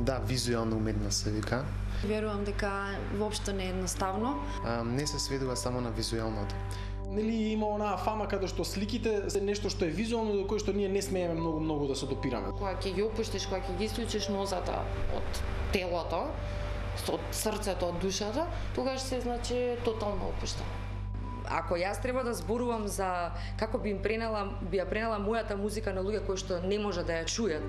Да, визуелна уметност се вика. Верувам дека воопшто не е едноставно. Не се сведува само на визуелното. Нели има онаа фама каде што сликите се нешто што е визуелно до кое што ние не смееме многу да се допираме. Кога ќе ги опуштиш, кога ќе ги исклучиш нозата од телото, од срцето, од душата, тогаш се значи тотално опуштено. Ако јас треба да зборувам за како би ја пренела мојата музика на луѓе кои што не може да ја чујат.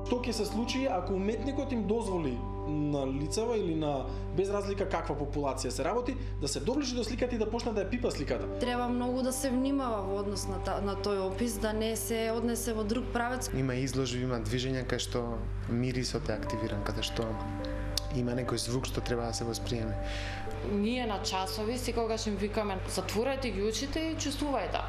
Што ќе се случи ако уметникот им дозволи на лицева или на без разлика каква популација се работи, да се доближи до сликата и да почне да ја пипа сликата? Треба многу да се внимава во однос на тој опис, да не се однесе во друг правец. Има изложби, има движења кај што мирисот е активиран, каде што има некој звук што треба да се восприеме. Ние на часови секогаш им викаме затворете ги очите и чувствувајте.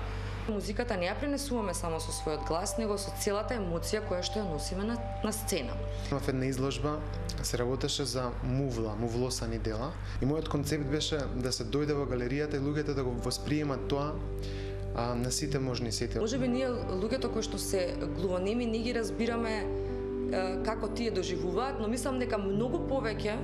Музиката не ја пренесуваме само со својот глас, него со целата емоција која што ја носиме на сцена. Имав една изложба, се работеше за мувлосани дела и мојот концепт беше да се дојде во галеријата и луѓето да го восприемат тоа на сите можни сети. Можеби ние луѓето кои што се глувонеми не ги разбираме како тие доживуваат, но мислам дека многу повеќе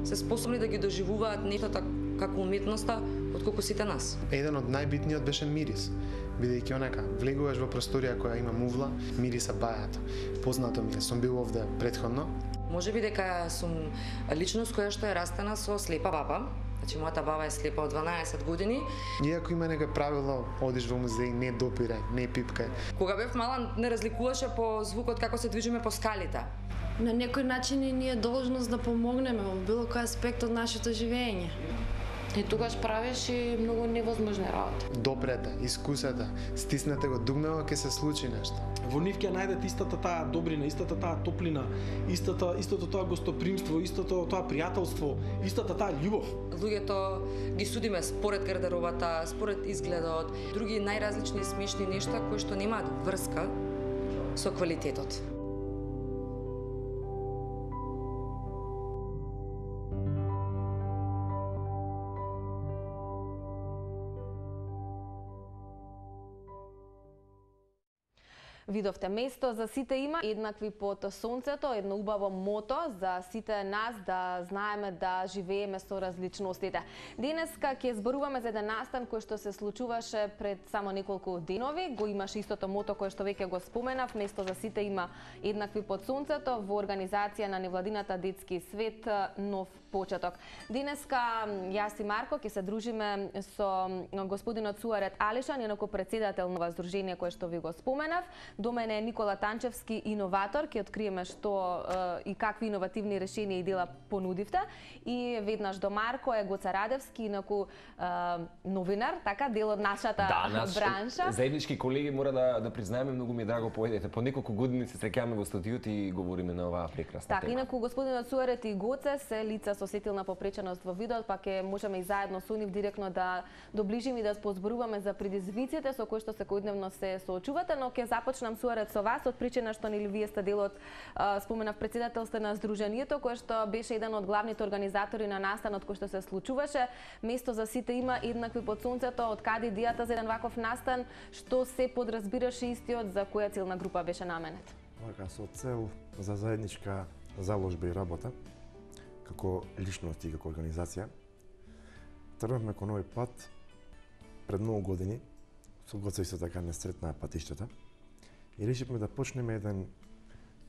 се способни да ги доживуваат нештата како уметноста отколку сите нас. Еден од најбитниот беше мирис. Бидејќи онака, влегуваш во просторија која има мувла, мириса бајато. Познато ми е, сум бил овде претходно. Можеби дека сум личност која што е растена со слепа баба. Значи, мојата баба е слепа од 12 години. Иако има некој правило, одиш во музеј, не допирај, не пипкај. Кога бев мала, не разликуваше по звукот како се движиме по скалите. На некој начин и ние должност да помогнеме во било кој аспект од нашето живење. И тогаш правиш и многу невозможни работи. Допрете, искусете, стиснете го дугмево, ќе се случи нешто. Во нив ќе најдете истата таа добрина, истата таа топлина, истото тоа гостопримство, истото тоа пријателство, истата таа љубов. Луѓето ги судиме според гардеробата, според изгледот, други најразлични смешни нешта кои што немаат врска со квалитетот. Видовте, место за сите има, еднакви под сонцето, едно убаво мото за сите нас да знаеме да живееме со различностите. Денеска ќе зборуваме за еден настан кој што се случуваше пред само неколку денови. Го имаше истото мото кое што веќе го споменав, место за сите има еднакви под сонцето во организација на невладината Детски свет Нов почеток. Денеска јас и Марко ќе се дружиме со господинот Суарет Алишан, инаку председател на здружение кое што ви го споменав. До мене е Никола Танчевски, иноватор, ќе откриеме што и какви иновативни решенија и дела понудивте. И веднаш до Марко е Гоца Радевски, инаку новинар, така, дел од нашата бранша. Заеднички колеги, мора да признаеме, многу ми е драго поедете. По неколку години се среќаваме во студиото и говориме на оваа прекрасна тема. Така, инаку господинот Суарет и Гоце се лица со сетилна попреченост во видеот, па ќе можеме и заедно со нив директно да доближиме и да позборуваме за предизвиците со кои што секојдневно се соочувате, но ќе започнам Суарет со вас од причина што нели вие сте дел од споменав председателство на здруженијето кое што беше еден од главните организатори на настанот кој што се случуваше. Место за сите има еднакви под сонцето. Од каде идејата за еден ваков настан, што се подразбираше истиот, за која целна група беше наменет? Така, со цел за заедничка заложба и работа, како личност и како организација, тргнавме кон овој пат пред многу години. Со Гоца исто така не сретнаа патиштата. И решивме да почнеме еден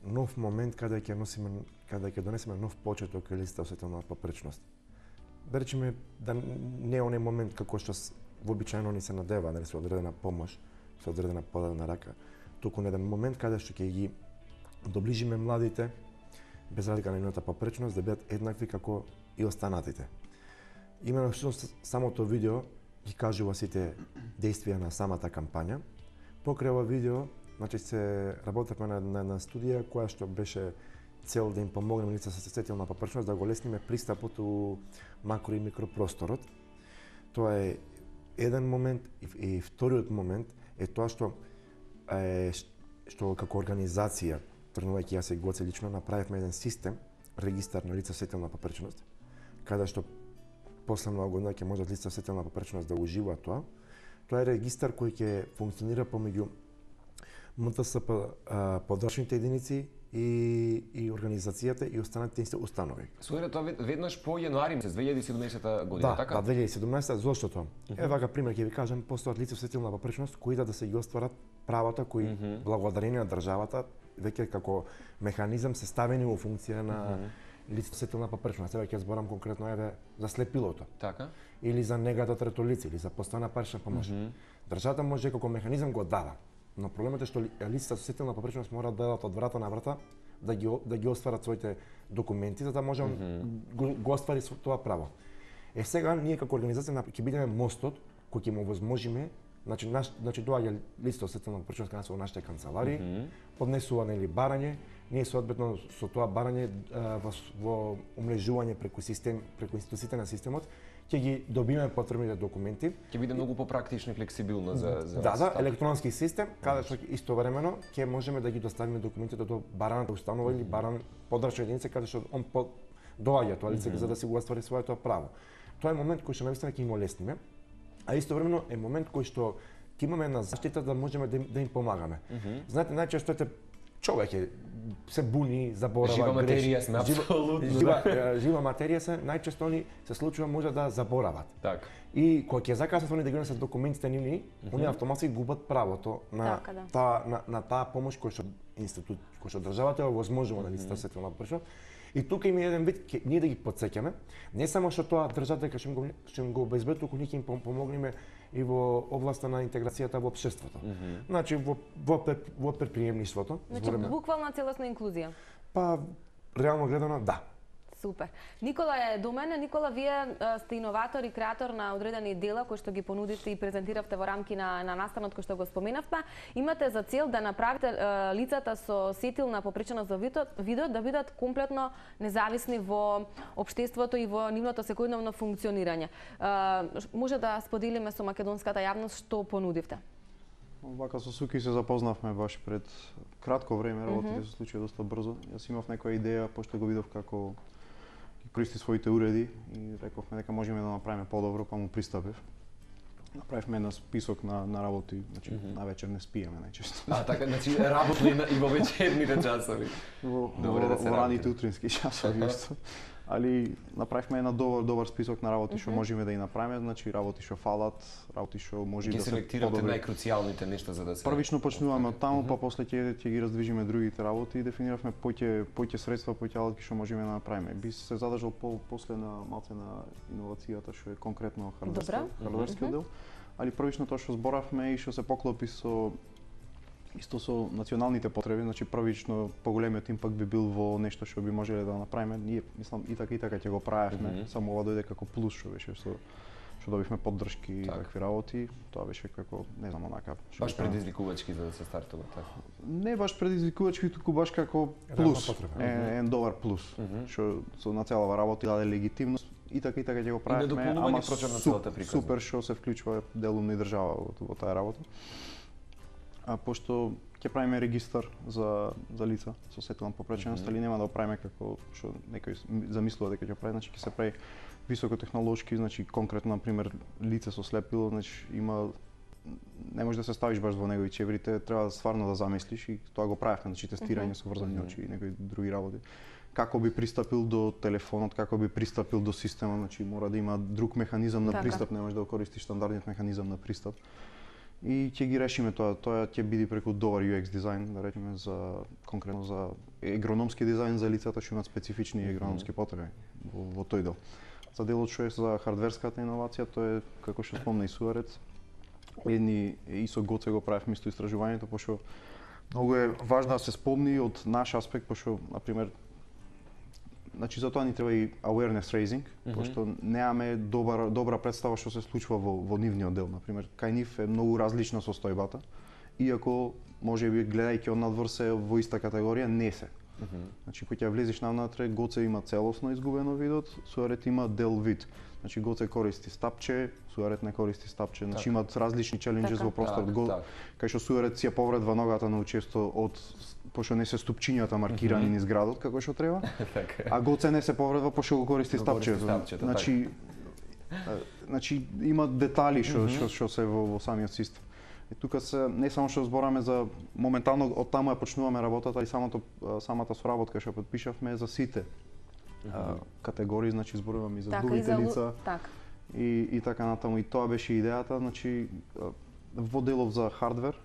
нов момент каде ќе донесеме нов почеток или осветилна попречност. Да речеме да не е оној момент како што вообичаено ни се надева, нели, со одредена помош, со одредена подадена рака, туку на еден момент каде што ќе ги доближиме младите без разлика на нивната попречност да бидат еднакви како и останатите. Именно всушност самото видео ги кажува сите действија на самата кампања. Покрај ова видео, значи се работевме на студија која што беше цел да им помогнеме лица со сетилна попречност да го лесниме пристапот у макро и микропросторот. Тоа е еден момент и вториот момент е тоа што како организација, тргнувајќи јас и Гоце лично, направивме еден систем, регистар на лица со сетилна попречност, каде што после многу година ќе можат лица со сетилна попречност да уживаат тоа. Тоа е регистар кој ќе функционира помеѓу МТСП подрачните единици и организацијата и останатите установи. Сојре тоа веднаш по јануари месец 2017 година, Да, така? да, 2017, зошто? Еве вака пример ќе ви кажам, постојат лица со сетилна попречност кои да се ги остварат правата кои благодарение на државата веќе како механизам се ставени во функција на лице со сетилна попречност. Еве ќе зборам конкретно еве за слепилото. Така. Или за негата трето лице, или за постојана парична помош. Државата може како механизам го дава. Но проблемот е што лицата со сетилна попречност мора да дадат од врата на врата да ги остварат своите документи за да може го оствари тоа право. Сега ние како организација ќе бидеме мостот кој ќе му возможиме, значи доаѓа лицето со сетилна попречност кај нас во нашите канцеларии, поднесува нели барање, ние соодветно со тоа барање во умрежување преку институциите на системот ќе ги добиеме потребните документи. Ќе биде многу попрактично и флексибилно за Да, електронски систем, каде што истовремено ќе можеме да ги доставиме документите до бараната установа или подрачна единица каде што он доаѓа тоа лице за да си го оствари своето право. Тоа е момент кој што навистина ќе им олесниме, а истовремено е момент кој што ќе имаме на заштита да можеме да им помагаме. Знаете, најчесто човек се буни, заборава, жива материја сме апсолутно. Жива материја се најчесто они се случува може да заборават. Така. И кога ќе закасат они да ги носат документите нивни, они автоматски губат правото на таа помош кој што државата ја возможува на лицата со сетилна попречност. И тука има еден вид ние да ги подсеќаме, не само што тоа државата ќе им го обезбеди, туку ние ќе им помогнеме и во областа на интеграцијата во општеството. Значи во предприемништвото. Значи буквална целосна инклузија. Па реално гледано да. Супер. Никола е до мене. Никола, вие сте иноватор и креатор на одредени дела кои што ги понудивте и презентиравте во рамки на настанот кој што го споменавте. Имате за цел да направите лицата со сетилна попреченост за видот да бидат комплетно независни во општеството и во нивното секојдневно функционирање. Може да споделиме со македонската јавност што понудивте? Вака со Суки се запознавме баш пред кратко време, работите се случија доста брзо. Јас имав некоја идеја, пошто го видов како користи своите уреди и рековме дека можеме да направиме подобро, па му пристапив. Направивме еден список на работи, значи на вечер не спиеме најчесто. Така, значи работно и во вечерните часови. Во раните утрински часови исто. Али направивме една добар список на работи што можеме да ги направиме, значи работи што фалат, работи што може да се селектирате најкруцијалните нешта за да се првично почнуваме од таму, па после ќе ги раздвижиме другите работи и дефиниравме поќе средства, поќе алатки што можеме да направиме. Би се задржал после на малце на иновацијата што е конкретно хардверскиот дел. Али првично тоа што зборавме и што се поклопи исто со националните потреби, значи првично поголемиот импакт би бил во нешто што би можеле да направиме. Ние мислам и така ќе го правевме, само ова дојде како плюс што беше што добивме поддршки и такви работи. Тоа беше како, не знам, онака баш предизвикувачки за да се стартува така. Не баш предизвикувачки, туку баш како плюс. Еден добар плюс, што на целава работа даде легитимност и така ќе го правевме, ама супер што се вклучува делумна и држава во таа работа. Пошто ќе правиме регистар за лица со сетилна попреченост, али нема да го правиме како што некој замислува дека ќе прави, значи ќе се прави високотехнолошки, значи конкретно на пример лице со слепило, значи има не можеш да се ставиш баш во негови чеврите, треба стварно да замислиш и тоа го правевме, значи тестирање со врзани очи и некои други работи. Како би пристапил до телефонот, како би пристапил до системот, значи мора да има друг механизам на пристап, не можеш да го користиш стандардниот механизам на пристап. И ќе ги решиме тоа ќе биде преку добар UX дизајн, да речеме конкретно за егрономски дизајн за лицата што имаат специфични егрономски потреби во тој дел. За делот што е за хардверската иновација, тоа е како што спомна и Суарец. Едни и со Гоце го правевме исто истражувањето, пошто многу е важно да се спомни од наш аспект, пошто на пример значи за тоа ни треба и awareness raising, пошто немаме добра представа што се случува во нивниот дел. На пример, кај нив е многу различна состојбата, иако можеби гледајќи од надвор се во иста категорија, не се. Значи кога ќе влезеш навнатре, Гоце има целосно изгубено видот, Суарет има дел вид. Значи Гоце користи стапче, Суарет не користи стапче, значи имаат различни челенџи во просторот. Кај што Суарет си ја повредва ногата на учесто пошто не се ступчињата маркирани низ градот како што треба, а Гоце не се повредва пошто го користи стапче. Значи има детали што се во самиот систем. И тука се не само што збораме за моментално од таму ја почнуваме работата и самата соработка што потпишавме за сите категории, значи зборуваме и за другите лица. И така натаму, и тоа беше идејата, значи во делов за хардвер,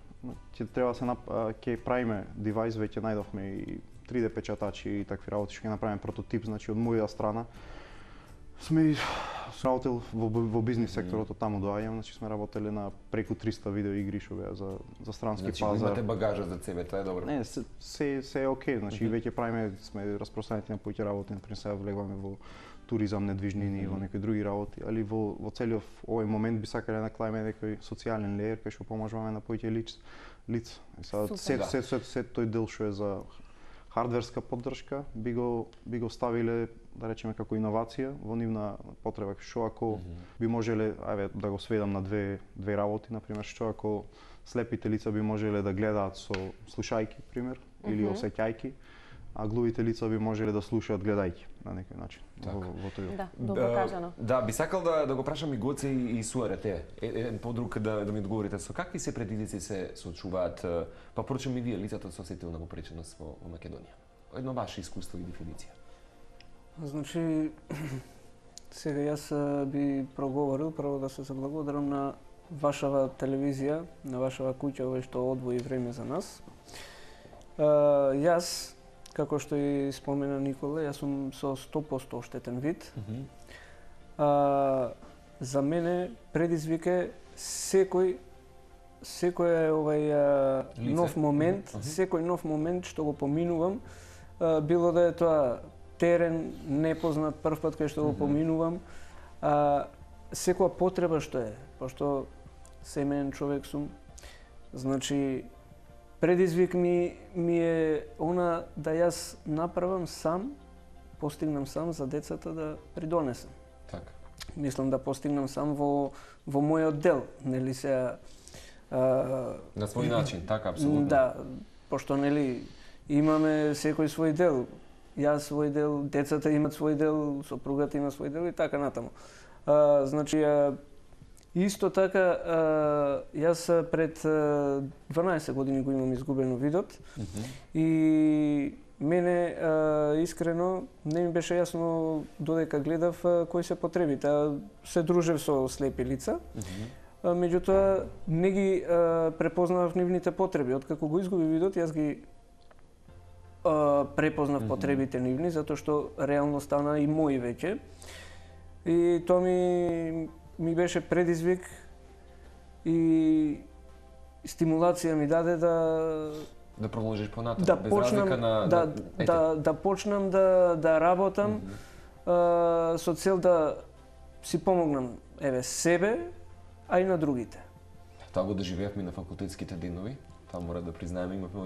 ќе треба се ќе правиме девајс, веќе најдовме и 3D печатачи и такви работи, што ќе направиме прототип, значи од моја страна. Сме сработил во бизнис секторот, од таму доаѓам, значи сме работеле на преку 300 видео игри што беа за странски пазар. Значи имате багажа за себе, тоа е добро. Не, се е окей, значи веќе правиме, сме распространети на повеќе работи, например сега влегуваме во туризам, недвижнини и во некои други работи, али во целиот овој момент би сакале да наклаиме некој социјален леер кај што поможуваме на повеќе лица. И сега се тој дел што е за хардверска поддршка би го ставиле, да речеме, како иновација во нивна потреба, што ако би можеле, да го сведам на две работи, например, што ако слепите лица би можеле да гледаат со слушајки, пример, или осеќајки, а глувите лица би можеле да слушаат гледајќи на некој начин. Во тој. Да, добро кажано. Да, би сакал да го прашам и Гоце и Суарете. Еден подруг да ми одговорите со какви се предизвици се соочуваат, па поручам и вие лицата со сетилна попреченост во Македонија. Едно ваше искуство и дефиниција. Значи, сега јас би проговорил, прво да се заблагодарам на вашава телевизија, на вашава куќа, што одвои време за нас. Јас, како што и спомена Никола, јас сум со 100% оштетен вид. За мене предизвик е секој нов момент, секој нов момент што го поминувам, било да е тоа терен, непознат, прв пат кај што го поминувам, секоја потреба што е, пошто семеен човек сум, значи предизвик ми е она да јас направам сам, постигнам сам за децата да придонесам. Така. Мислам да постигнам сам во мојот дел, нели се на свој начин, така апсолутно. Да, пошто нели имаме секој свој дел. Јас свој дел, децата имат свој дел, сопругата има свој дел и така натаму. Значи, исто така, јас пред 12 години го имам изгубено видот и мене искрено не ми беше јасно додека гледав кои се потребите. Се дружев со слепи лица, меѓутоа не ги препознавав нивните потреби. Откако го изгуби видот, јас ги препознав потребите нивни, затоа што реално стана и мои веќе. И тоа ми беше предизвик и стимулација ми даде да продолжиш понатаму, да без почнам, разлика на да почнам да работам со цел да си помогнам себе, а и на другите. Тоа го доживеавме на факултетските денови. Тоа мора да признаеме, имавме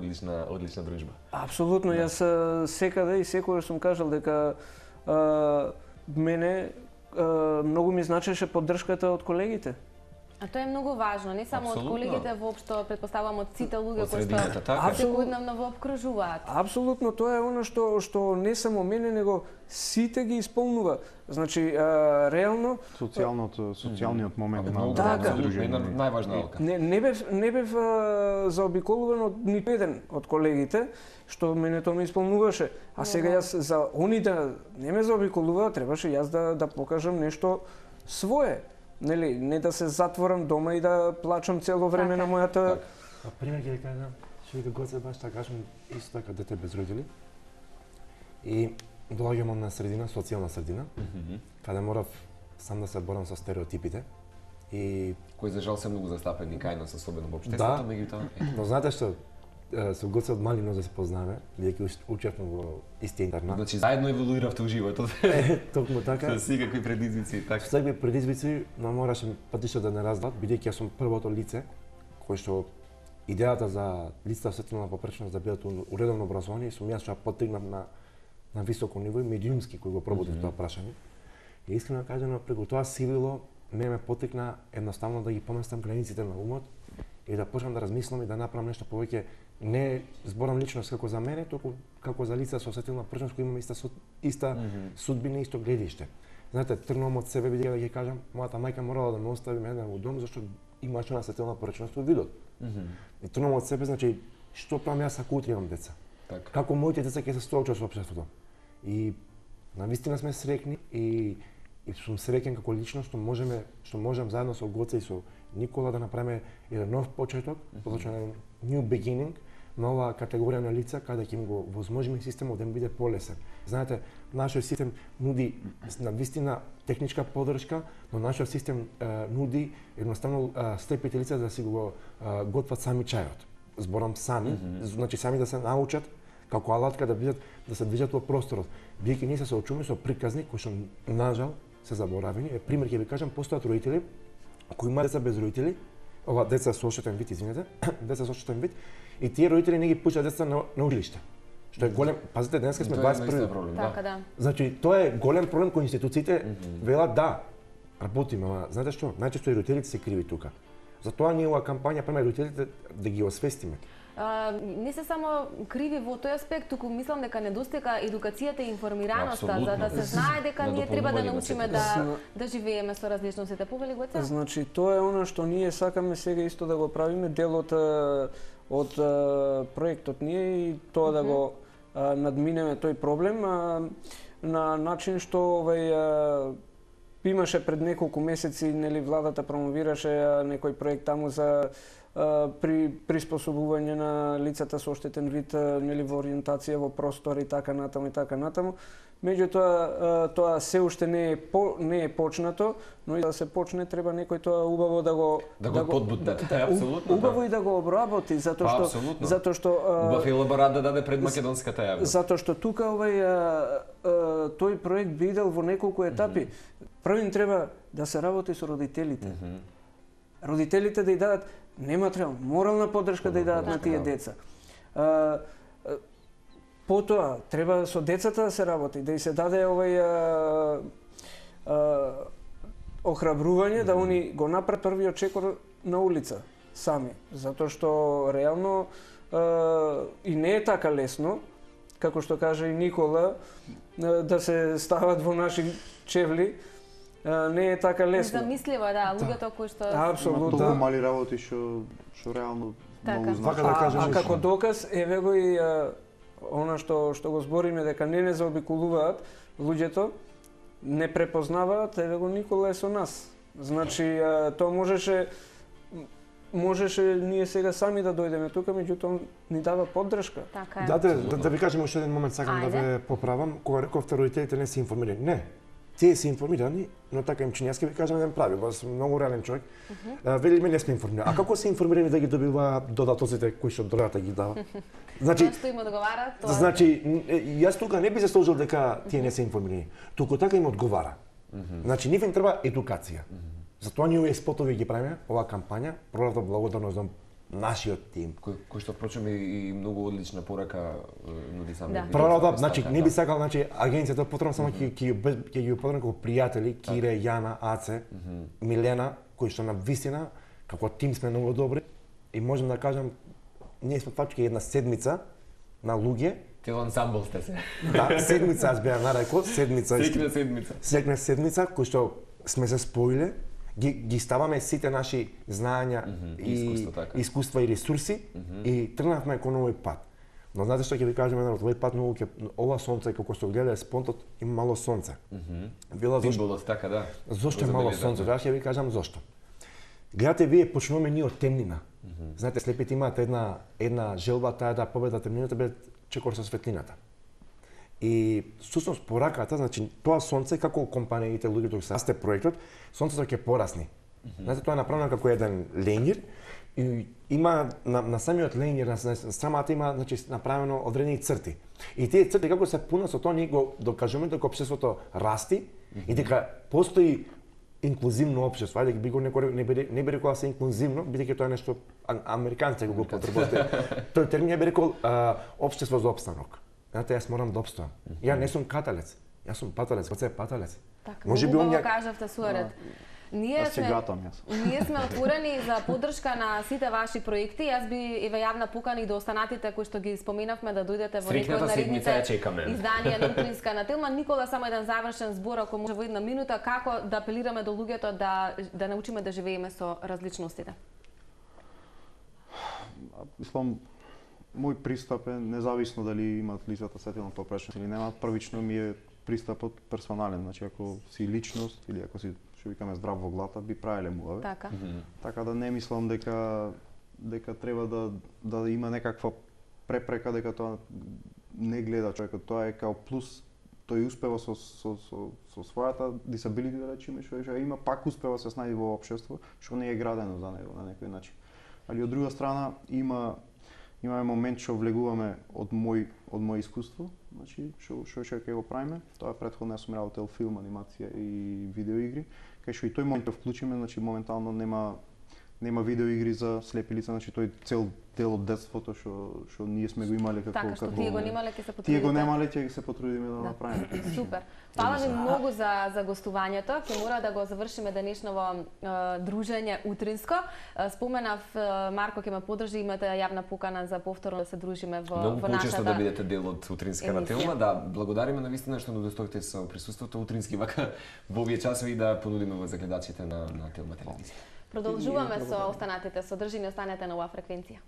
одлична дружба. Апсолутно, јас секаде и секогаш сум кажал дека мене многу ми значеше поддршката од колегите. А тоа е многу важно, не само од колегите, воопшто претпоставувам од сите луѓе кои што секојдневно во обкружуваат. Апсолутно, тоа е она што не само мене, него сите ги исполнува. Значи, реално социјалниот момент на една најважна алка. Не бев заобиколуван од ниту еден од колегите, што мене тоа ме исполнуваше. А сега јас за они да не ме заобиколува, требаше јас да покажам нешто свое. Нели, не да се затворам дома и да плачам цело време на мојата... А пример ќе кажам, што и Гоце баш така кажам, исто така дете без родители. И доаѓам на средина, социјална средина, каде морав сам да се борам со стереотипите. И кои за жал се многу застапени кај нас, особено во општеството, меѓутоа. Но знаете што, со Гоце од мали нозе се познаваме, бидејќи учевме во исти интернат. Значи заедно еволуиравте во животот. Токму така. Со секакви предизвици, така. Со секакви предизвици, но мораше патишта да не раздат, бидејќи јас сум првото лице кој што идејата за лицата со сетилна попреченост да бидат уредовно образовани, сум јас што ја поттигнав на високо ниво и медиумски кој го пробудив тоа прашање. И искрено кажано, преку тоа сивило ме поттикна едноставно да ги поместам границите на умот и да почнам да размислам и да направам нешто повеќе. Не зборам лично како за мене, туку како за лица со сетилна попреченост кои имаме иста судбина, исто гледиште. Знаете, тргнувам од себе, бидејќи да ги кажам, мојата мајка морала да ме остави мене во дом зашто имаше на сетилна попреченост во видот. И тргнам од себе, значи, што правам јас ако утре имам деца? Така. Како моите деца ќе се соочат со општеството? И навистина сме среќни и сум среќен како личност што можам заедно со Гоце и со Никола да направиме еден нов почеток, позначен new beginning на оваа категорија на лица каде ќе им го возможиме системот да им биде полесен. Знаете, нашиот систем нуди навистина техничка поддршка, но нашиот систем нуди едноставно слепите лица да си го готват сами чајот. Зборам сами, значи сами да се научат како алатка да се движат во просторот. Биејќи ние се соочуваме со приказни кои што нажал се заборавени. Пример ќе ви кажам, постојат родители кои имаат деца без родители, ова деца со оштетен вид, извинете, деца со оштетен вид, и тие родители не ги пуштаат деца на училиште. Што е голем, пазите, денеска сме 21. проблем, Така да. Значи, тоа е голем проблем кој институциите велат да работиме, ама знаете што? Најчесто и родителите се криви тука. Затоа ние оваа кампања преме родителите да ги освестиме. Не се само криви во тој аспект, туку мислам дека недостига едукацијата и информираноста за да се знае дека ние треба да научиме да живееме со различностите. Повели Гоце? Значи, тоа е она што ние сакаме сега исто да го правиме, делот од проектот ние и тоа да го надминеме тој проблем на начин што имаше пред неколку месеци, нели, владата промовираше некој проект таму за при приспособување на лицата со оштетен вид, нели, во ориентација во простор и така натаму. Меѓутоа тоа се уште не е почнато, но и да се почне треба некој тоа убаво да го подбутне. Апсолутно. Убаво и да го обработи затоа што убав елаборат да даде пред македонската јавност. Затоа што тука тој проект би идел во неколку етапи. Првин треба да се работи со родителите. Родителите да ја дадат не материјална, морална поддршка да ја дадат на тие деца. Потоа треба со децата да се работи, да и се даде охрабрување да они го направат првиот чекор на улица сами, затоа што реално и не е така лесно, како што каже и Никола, да се стават во наши чевли. Не е така лесно. Замисливо, да, луѓето кои што апсолутно толку мали работи што реално многу значат. А како доказ еве го и она што го збориме дека не заобиколуваат луѓето, не препознаваат, еве го Никола е со нас. Значи тоа можеше ние сега сами да дојдеме тука, меѓутоа ни дава поддршка. Така е. Да ви кажем уште еден момент, сакам да ве поправам, кога рековте родителите не се информирани. Не. Тие се информирани, но така им чини. Јас ќе ви кажам еден прави, бас многу реален човек. Велиме не сме информирани. А како се информирани да ги добива додатоците кои што државата ги дава? Значи, што им одговара, тоа. Значи, јас тука не би се сложил дека тие не се информирани. Туку така им одговара. Значи, нив им треба едукација. Затоа ние овие спотови ги правиме, оваа кампања, пролата благодарност за нашиот тим. Кој што впрочем и многу одлична порака нуди сами. Пролата, значи не би сакал, значи агенцијата потребно само ќе ги употребам како пријатели, Кире, Јана, Аце, Милена, кои што на вистина како тим сме многу добри и можам да кажам ние сме фактички една седмица на луѓе. Цел ансамбл сте се. Да, седмица аз беа нарекол, седмица. Секна седмица кој што сме се споиле, ги ставаме сите наши знаења и искуства и ресурси и тргнавме кон овој пат. Но знаете што ќе ви кажам, овој пат многу ова сонце како што гледа спонтот има мало сонце. Символот така да. Зошто е мало сонце? Јас ќе ви кажам зошто. Гледате, вие почнуваме ние од темнина. Знаете, слепите имаат една желба таа да победат темнината без чекор со светлината. И всушност пораката, значи тоа сонце како компаниите, луѓето се расте проектот, сонцето ќе порасне. Знаете, тоа е направено како еден ленјер и има на самиот ленјер, на самата има значи направено одредени црти. И тие црти како се пунат со тоа ние го докажуваме дека општеството расти и дека постои инклузивно општество. Ајде би го не би рекол се инклузивно, бидејќи тоа е нешто американците го потребувате. Тој термин би рекол општество за опстанок. Знаете, јас морам да обстојам. Ја не сум каталец, јас сум паталец, Гоце е паталец. Така, многу го кажавте суарет. Ние сме отворени за поддршка на сите ваши проекти. Јас би еве јавна покана и до останатите кои што ги споменавме да дојдете во некој од наредните изданија на Украинска на Телма. Никола, само еден завршен збор, ако може во една минута, како да апелираме до луѓето да научиме да живееме со различностите? Мислам, мој пристап е независно дали имаат лицата сетилна попречност или немаат, првично ми е пристапот персонален, значи ако си личност или ако си што викаме здрав во глата, би правеле муаве. Така. Така да не мислам дека треба да има некаква препрека дека тоа не гледа човекот, тоа е као плюс. Тој успева со својата disability, да речеме, што има, пак успева се снајде во општество, што не е градено за него на некој начин. Али од друга страна имаме момент што влегуваме од мој искуство, значи што ќе го правиме. Тоа претходно јас сум работел филм, анимација и видеоигри, кај што и тој момент ќе вклучиме, значи моментално нема видеоигри за слепи лица, значи тој цел дел од детството што ние сме го имале како Така, што тие го немале, ќе се потрудите. Тие го немале, ќе се потрудиме да направиме. Супер. Фала ви многу за гостувањето. Ќе мора да го завршиме денешново дружење утринско. Споменав Марко ќе ме подржи, имате јавна покана за повторно да се дружиме во нашата. Многу почесто да бидете дел од утринската тема. Да, благодариме на вистина што удостоите со присуството утрински вака во овие часови да понудиме во загледачите на Телма телевизија. Продолжуваме со останатите содржини, останете на оваа фреквенција.